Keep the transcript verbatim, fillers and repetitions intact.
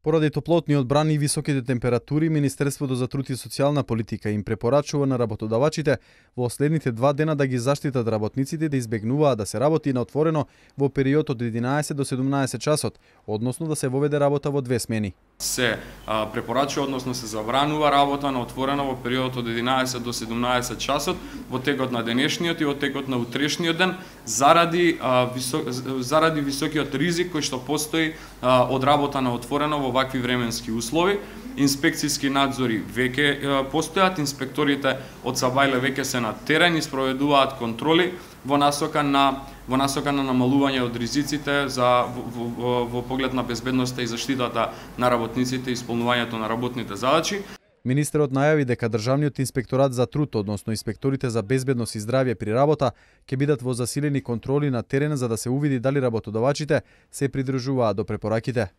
Поради топлотниот бран и високите температури, Министерството за труд и социјална политика им препорачува на работодавачите во следните два дена да ги заштитат работниците да избегнуваат да се работи на отворено во период од единаесет до седумнаесет часот, односно да се воведе работа во две смени. Се а, препорачува, односно се забранува работа на отворено во период од единаесет до седумнаесет часот во текот на денешниот и во текот на утрешниот ден заради а, висок, заради високиот ризик кој што постои а, од работа на отворено во вакви временски услови. Инспекцијски надзори веќе постојат, инспекторите од Сабајле веќе се на терен и спроведуваат контроли во насока на во насока на намалување од ризиците за во, во, во поглед на безбедноста и заштитата на работниците и исполнувањето на работните задачи. Министерот најави дека Државниот инспекторат за труд, односно инспекторите за безбедност и здравје при работа, ќе бидат во засилени контроли на терен за да се увиди дали работодавачите се придржуваат до препораките.